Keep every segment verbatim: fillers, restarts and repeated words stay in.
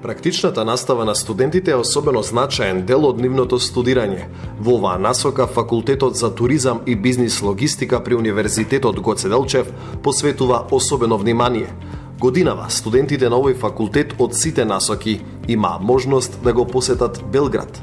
Практичната настава на студентите е особено значаен дел од нивното студирање. Во оваа насока Факултетот за туризам и бизнис логистика при Универзитетот Гоце Делчев посветува особено внимание. Годинава студентите на овој факултет од сите насоки имаа можност да го посетат Белград.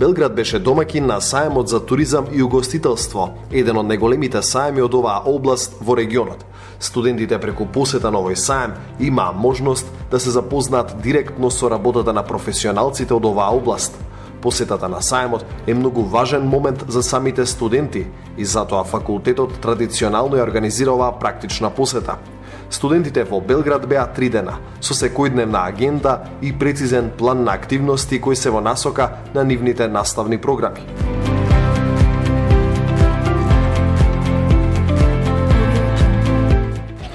Белград беше домаќин на саемот за туризам и угостителство, еден од најголемите саеми од оваа област во регионот. Студентите преку посета на овој саем имаа можност да се запознаат директно со работата на професионалците од оваа област. Посетата на саемот е многу важен момент за самите студенти и затоа факултетот традиционално ја организира оваа практична посета. Студентите во Белград беа три дена, со секојдневна агенда и прецизен план на активности кои се во насока на нивните наставни програми.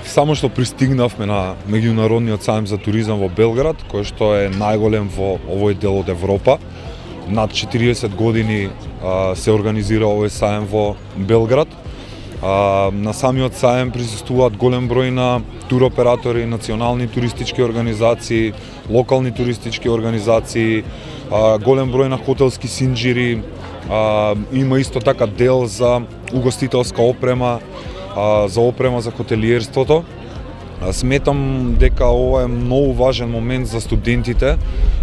Само што пристигнавме на меѓународниот саем за туризам во Белград, кој што е најголем во овој дел од Европа. Над четириесет години а, се организира овој саем во Белград. А, на самиот саем присуствуваат голем број на туроператори, национални туристички организации, локални туристички организации, а, голем број на хотелски синџири, а, има исто така дел за угостителска опрема, а, за опрема за хотелиерството. Сметам дека ова е многу важен момент за студентите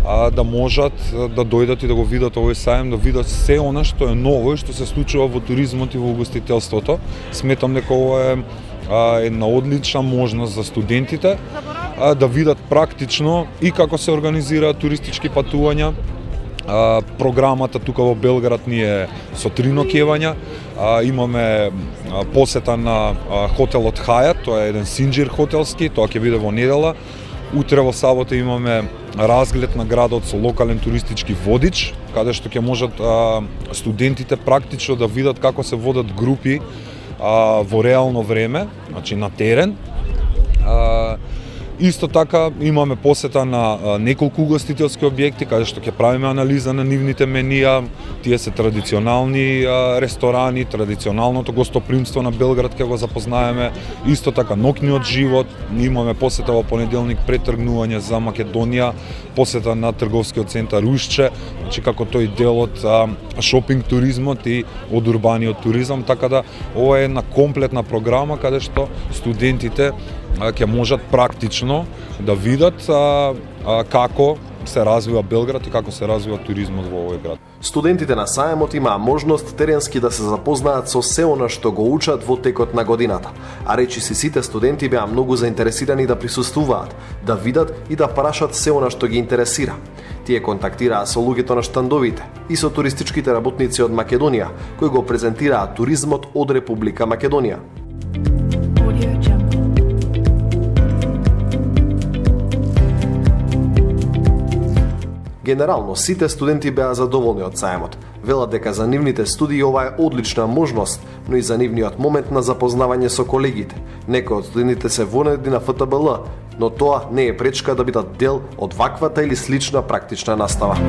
а, да можат да дојдат и да го видат овој саем, да видат се она што е ново и што се случува во туризмот и во угостителството. Сметам дека ова е а, една одлична можност за студентите а, да видат практично и како се организираат туристички патувања. А, програмата тука во Белград ни е со три ноќевања. А, имаме а, посета на а, хотелот Хајат, тоа е еден синџир хотелски, тоа ќе биде во недела. Утре во сабота имаме разглед на градот со локален туристички водич, каде што ќе можат а, студентите практично да видат како се водат групи а, во реално време, значи на терен. А, Исто така имаме посета на а, неколку угостителски објекти каде што ќе правиме анализа на нивните менија. Тие се традиционални а, ресторани, традиционалното гостопримство на Белград ќе го запознаеме. Исто така ноќниот живот. Имаме посета во понеделник пред тргнување за Македонија, посета на трговскиот центар Ушче, значи како тој дел од а, шопинг туризмот и од урбаниот туризам, така да ова е една комплетна програма каде што студентите ќе можат практично да видат а, а, како се развива Белград и како се развива туризмот во овој град. Студентите на саемот имаа можност теренски да се запознаат со се она што го учат во текот на годината, а речиси сите студенти беа многу заинтересирани да присуствуваат, да видат и да прашат се она што ги интересира. Тие контактираа со луѓето на штандовите и со туристичките работници од Македонија, кои го презентираат туризмот од Република Македонија. Генерално, сите студенти беа задоволни од саемот. Велат дека за нивните студии ова е одлична можност, но и за нивниот момент на запознавање со колегите. Некои од студентите се вонеди на Ф Т Б Л, но тоа не е пречка да бидат дел од ваквата или слична практична настава.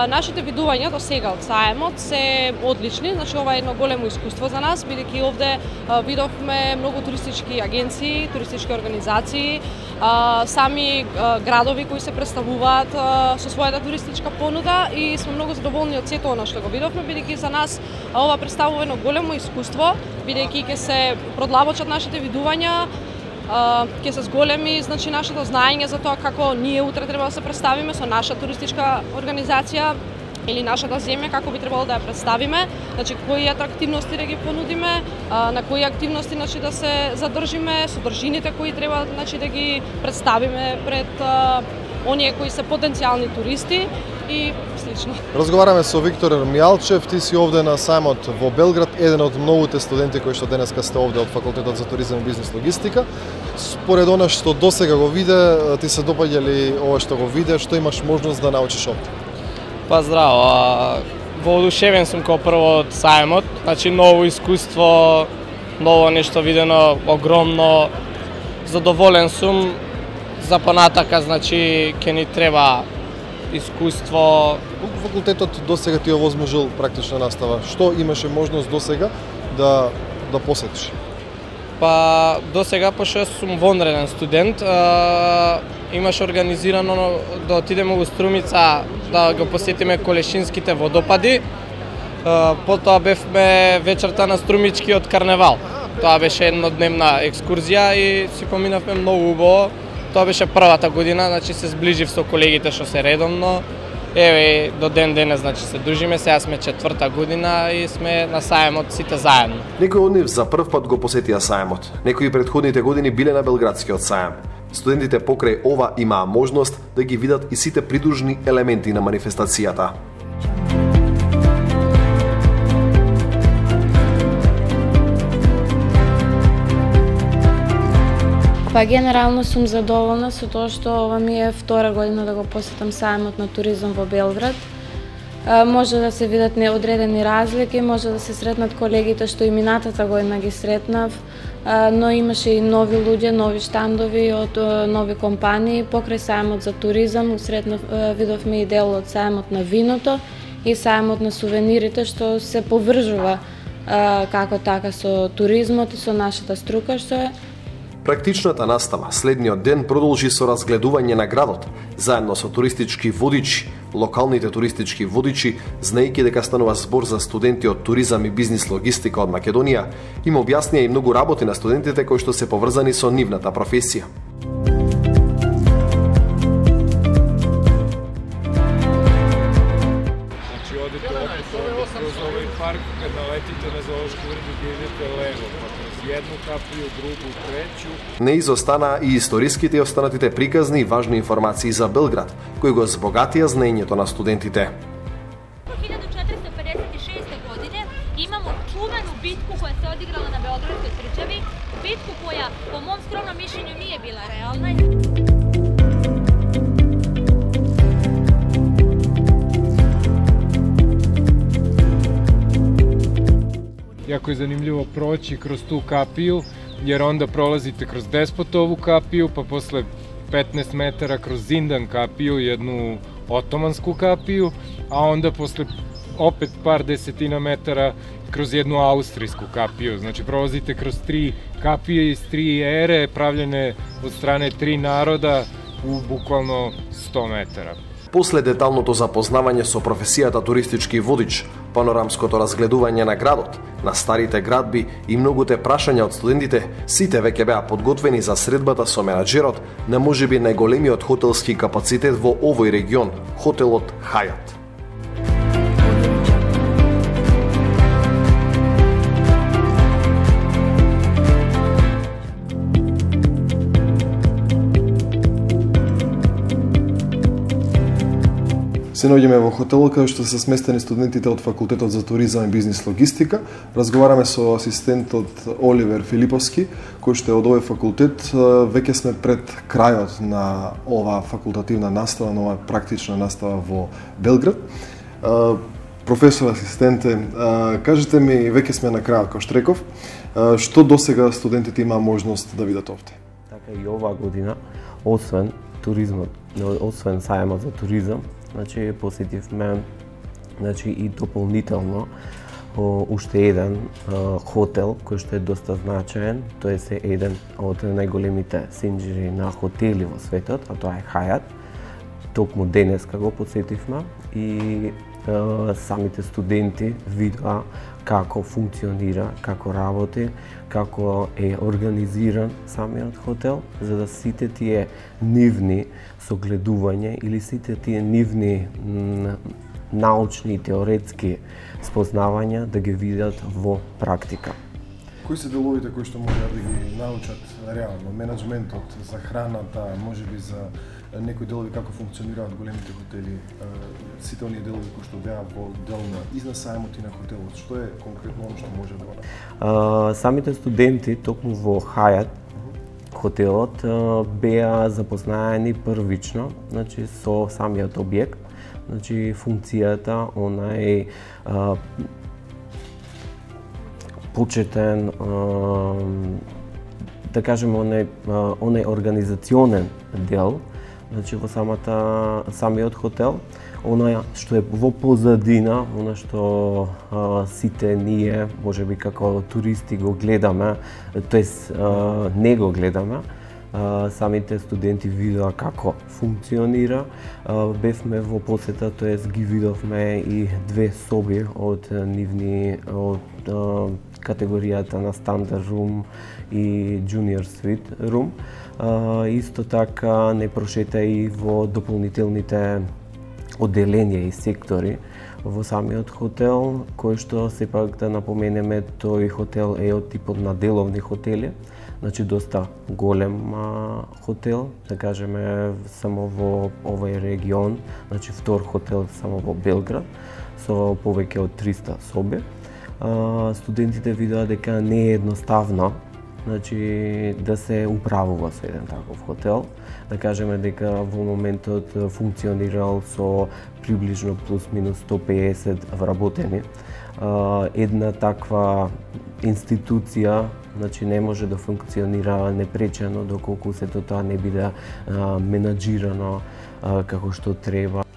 Нашите видувања до сега од саемот се одлични, значи ова е едно големо искуство за нас, бидејќи овде а, видовме многу туристички агенции, туристички организации, а, сами а, градови кои се представуваат а, со својата туристичка понуда и сме многу задоволни од сето она што го видовме, бидејќи за нас а, ова представува едно големо искуство, бидејќи ќе се продлабочат нашите видувања, ќе се зголеми, значи, нашето знаење за тоа како ние утре треба да се представиме со наша туристичка организација или нашата земја, како би требало да ја представиме, значи кои атрактивности да ги понудиме, на кои активности, значи, да се задржиме, содржините кои треба, значи, да ги представиме пред а, оние кои се потенцијални туристи и слично. Разговараме со Виктор Мијалчев, ти си овде на саемот во Белград, еден од многуте студенти кои што денеска сте овде од Факултетот за туризам и бизнис логистика. Според она што досега го виде, ти се допаѓа ли ова што го виде, што имаш можност да научиш овде? Па здраво, воодушевен сум како прво од саемот, значи ново искуство, ново нешто видено, огромно, задоволен сум, за понатака, значи ќе ни треба искуство. Колку факултетот досега ти овозможил практична настава? Што имаше можност досега да да посетиш? Па досега, пошто сум вонреден студент, а, имаш организирано да отидеме во Струмица да го посетиме Колешинските водопади. А, потоа бевме вечерта на Струмичкиот карневал. Тоа беше еднодневна екскурзија и си поминавме многу убаво. Тоа беше првата година, значи се зближив со колегите што се редовно. Еве до ден денес, значи се дружиме, сега сме четврта година и сме на сајмот сите заедно. Некои од нив за прв пат го посетија сајмот. Некои предходните години биле на Белградскиот сајм. Студентите покрај ова имаа можност да ги видат и сите придружни елементи на манифестацијата. Па генерално сум задоволна со тоа што ова ми е втора година да го посетам сајмот на туризам во Белград. Може да се видат неодредени разлики, може да се сретнат колегите што и минатата година ги сретнав, но имаше и нови луѓе, нови штандови од нови компании. Покрај сајмот за туризам сретнав, видовме и дел од сајмот на виното и сајмот на сувенирите, што се поврзува како така со туризмот и со нашата струка што е. Практичната настава следниот ден продолжи со разгледување на градот, заедно со туристички водичи. Локалните туристички водичи, знаејќи дека станува збор за студенти од туризам и бизнис логистика од Македонија, им објаснија и многу работи на студентите кои што се поврзани со нивната професија. Значи одите кроз овој парк, кога летите на зоолошки врт и идете лево, па кроз едну капiju, другу, треќу. Не изостанаа и историските и останатите приказни и важни информации за Белград, кои го збогатија знаењето на студентите. hiljadu četiristo pedeset šeste. godine imamo čuvenu bitku koja se odigrala na Beogradskoj tvrđavi, bitku koja po mom skromnom mišljenju nije bila realna. Jako je zanimljivo proći kroz tu kapiju, jer onda prolazite kroz Despotovu kapiju, pa posle petnaest metara kroz Zindan kapiju, jednu otomansku kapiju, a onda posle opet par desetina metara kroz jednu austrijsku kapiju. Znači prolazite kroz tri kapije iz tri ere, pravljene od strane tri naroda u bukvalno sto metara. После деталното запознавање со професијата туристички водич, панорамското разгледување на градот, на старите градби и многуте прашања од студентите, сите веќе беа подготвени за средбата со менаџерот на можеби најголемиот хотелски капацитет во овој регион, хотелот Хајат. Се наоѓаме во хотелот каде што се сместени студентите од факултетот за туризам и бизнис логистика. Разговараме со асистентот Оливер Филиповски, кој што е од овој факултет. Веќе сме пред крајот на ова факултативна настава, на ова практична настава во Белград. Професор асистенте, кажете ми, веќе сме на крајот, кој што реков, што досега студентите имаа можност да видат овде? Така и оваа година, освен туризмот, освен сајмот за туризам, значи посетивме, значи и дополнително уште еден хотел кој што е доста значаен. Тој е еден од најголемите сенџери на хотели во светот, а тоа е Хајат. Токму денеска го посетивме и самите студенти видоа како функционира, како работи, како е организиран самиот хотел, за да сите тие нивни согледувања или сите тие нивни научни и теоретски спознавања да ги видат во практика. Кои се деловите кои што можат да ги научат реално? Менеджментот, за храната, можеби за некои делови како функционираат големите хотели, сите оние делови кои што беа во дел на изнад сајмот и на хотелот. Што е конкретно оно што може да го направи? Самите студенти токму во Хајат хотелот беа запознаени првично, значи со самиот објект, значи функцијата, онај почетен да кажеме, онај, онај организационен дел, значи во самата, самиот хотел, она што е во позадина, она што а, сите ние, можеби како туристи го гледаме, тоест а, не го гледаме, а, самите студенти видоа како функционира. А, бевме во посета, тоест ги видовме и две соби од нивни, од а, категоријата на Standard Room и Junior Suite Room. А, исто така не прошета и во дополнителните одделенија и сектори во самиот хотел, кој што сепак да напоменеме, тој хотел е од типот на деловни хотели, значи доста голем а, хотел, да кажеме само во овој регион, значи втор хотел само во Белград, со повеќе од триста соби. А, студентите видоа дека не е едноставно, значи да се управува со еден таков хотел. Да кажеме дека во моментот функционирал со приближно плюс-минус сто пеесет вработени. Една таква институција, значи не може да функционира непречено доколку сето тоа не биде менаџирано како што треба.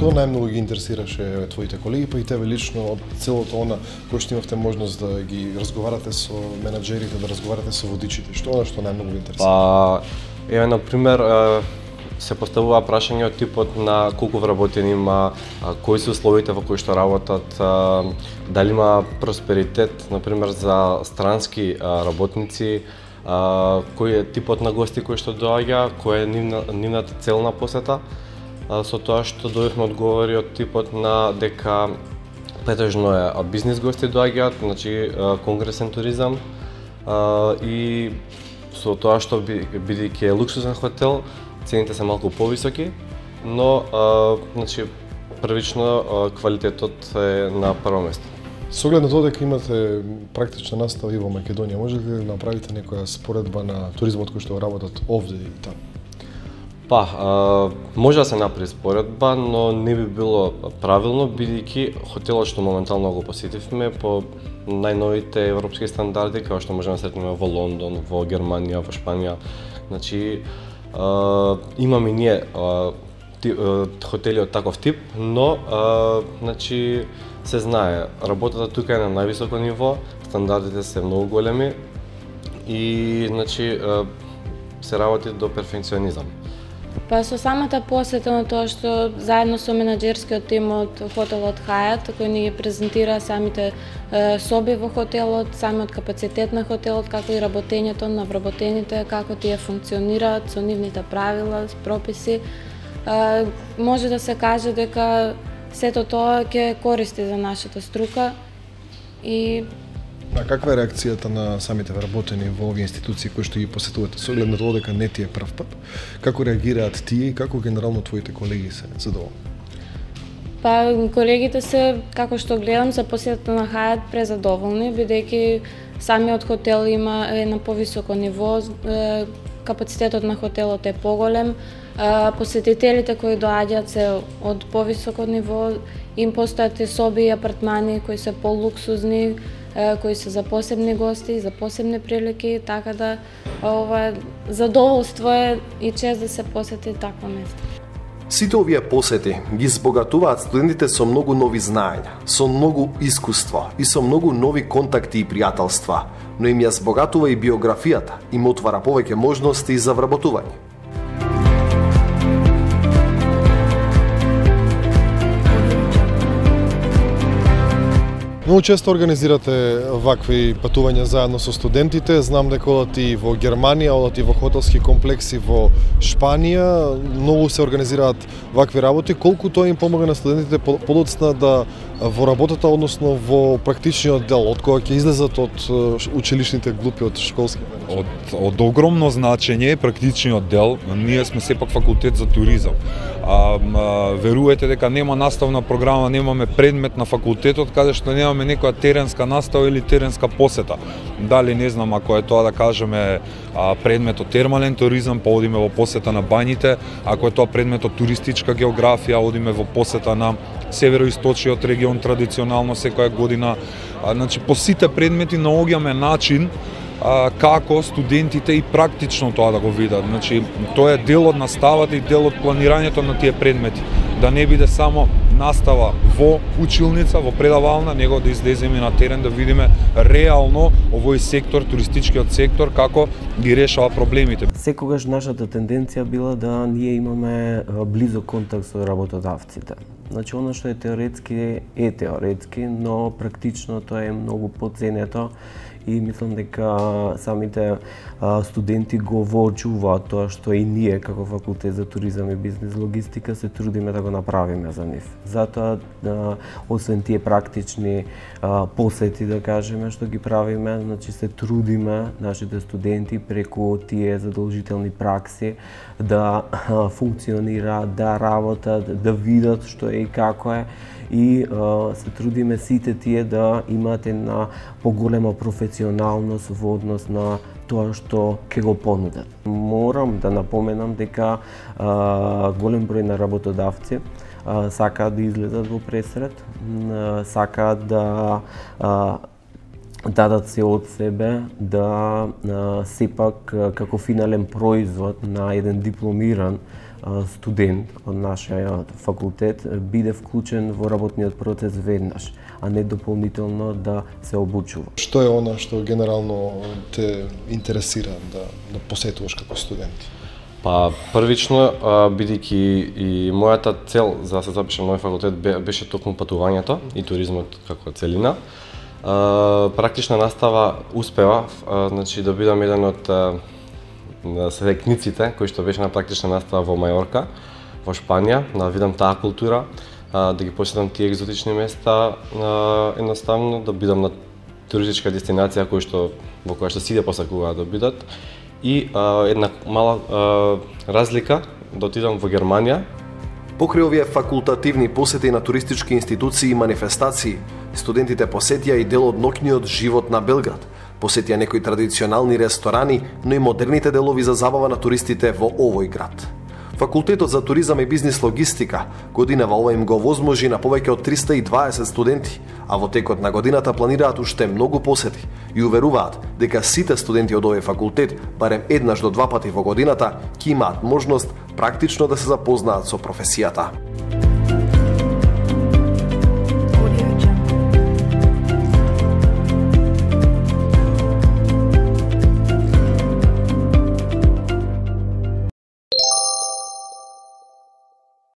Што најмногу ги интересираше твоите колеги, па и тебе лично од целото она кој што имавте можност да ги разговарате со менаџерите, да разговарате со водичите? Што она што најмногу ви интересира? Па, еве на пример се поставува прашање од типот на колку вработени има, кои се условите во кои што работат, дали има просперитет, на пример за странски работници, кој е типот на гости кои што доаѓа, која е нивна, нивната цел на посета. Со тоа што добивме одговори од типот на дека претежно е бизнис гости доаѓаат, значи конгресен туризам, и со тоа што бидејќи е луксузен хотел, цените се малку повисоки, но значи првично квалитетот е на прво место. Со оглед на тоа дека имате практична настава и во Македонија, можете ли да направите некоја споредба на туризмот кој што работат овде и таму? Па, а, може да се направи споредба, но не би било правилно, бидејќи хотелот што моментално го посетивме по најновите европски стандарди, како што можеме да сретнеме во Лондон, во Германија, во Шпанија. Значи, а, имаме ние а, ти, а, хотели од таков тип, но а, значи, се знае, работата тука е на највисоко ниво, стандардите се многу големи и значи, а, се работи до перфекционизам. Па со самата посета на тоа што заедно со менаџерскиот тим од хотелот Хајат, кој ни ги презентира самите е, соби во хотелот, самиот капацитет на хотелот, како и работењето на вработените, како тие функционираат со нивните правила, прописи, е, може да се каже дека сето тоа ќе користи за нашата струка и А каква е реакцијата на самите вработени во овие институции кои што ги посетувате? Со оглед на тоа дека не ти е прв пат, како реагираат тие и како генерално твоите колеги се задоволни? Па колегите се, како што гледам, за посетата на Хајат презадоволни, бидејќи самиот хотел има е на повисоко ниво, е, капацитетот на хотелот е поголем, е, посетителите кои доаѓаат се од повисоко ниво, им постојат и соби и апартмани кои се полуксузни, кои се за посебни гости, за посебни прилики, така да ова задоволство е и чест да се посети такво место. Сите овие посети ги збогатуваат студентите со многу нови знаења, со многу искуство и со многу нови контакти и пријателства, но им ја збогатува и биографијата, им отвара повеќе можности за вработување. Многу често организирате вакви патувања заедно со студентите. Знам дека одат и во Германија, одат и во хотелски комплекси во Шпанија. Многу се организираат вакви работи. Колку тоа им помага на студентите подоцна да во работата, односно во практичниот дел, од кога ќе излезат од училишните глупи, од школски? од, од огромно значење е практичниот дел. Ние сме сепак факултет за туризам. А, а, верувате дека нема наставна програма, немаме предмет на факултетот каде што немаме некоја теренска настава или теренска посета. Дали не знам, ако е тоа да кажеме а, предметот термален туризам, па одиме во посета на бањите, ако е тоа предметот туристичка географија, одиме во посета на североисточниот регион традиционално секоја година. А, значи по сите предмети наоѓаме начин а, како студентите и практично тоа да го видат. Значи тоа е дел од наставата и дел од планирањето на тие предмети. Да не биде само настава во училница, во предавална, него да излеземе на терен да видиме реално овој сектор, туристичкиот сектор, како ги решава проблемите. Секогаш нашата тенденција била да ние имаме близок контакт со работодавците. Значи, оно што е теоретски е теоретски, но практично тоа е многу подценето и мислам дека самите а, студенти го воочуваат тоа што и ние како факултет за туризам и бизнес логистика се трудиме да го направиме за нив. Затоа, а, освен тие практични а, посети, да кажеме, што ги правиме, значи се трудиме нашите студенти преку тие задолжителни пракси да а, функционираат, да работат, да видат што е и како е, и а, се трудиме сите тие да имаат една поголема професионалност во однос на тоа што ќе го понудат. Морам да напоменам дека а, голем број на работодавци а, сакаат да излезат во пресред, а, сакаат да а, дадат се од себе, да а, сепак како финален производ на еден дипломиран студент од нашиот факултет биде вклучен во работниот процес веднаш, а не дополнително да се обучува. Што е она што генерално те интересира да, да посетуваш како студент? Па првично, бидејќи и мојата цел за да се запишам на овој факултет беше токму патувањето и туризмот како целина. Практична настава успева, значи да бидам еден од светникците кои што беше на практична настава во Мајорка, во Шпанија, да видам таа култура, да ги посетам тие екзотични места, едноставно да бидам на туристичка дестинација кој што во која што сите посакуваат да бидат, и една мала разлика да отидам во Германија. Покрај овие факултативни посети на туристички институции и манифестации, студентите посетија и дел од ноќниот живот на Белград. Посетија некои традиционални ресторани, но и модерните делови за забава на туристите во овој град. Факултетот за туризам и бизнес логистика годинава ова им го овозможи на повеќе од триста и дваесет студенти, а во текот на годината планираат уште многу посети и уверуваат дека сите студенти од овој факултет барем еднаш до два пати во годината ќе имаат можност практично да се запознаат со професијата.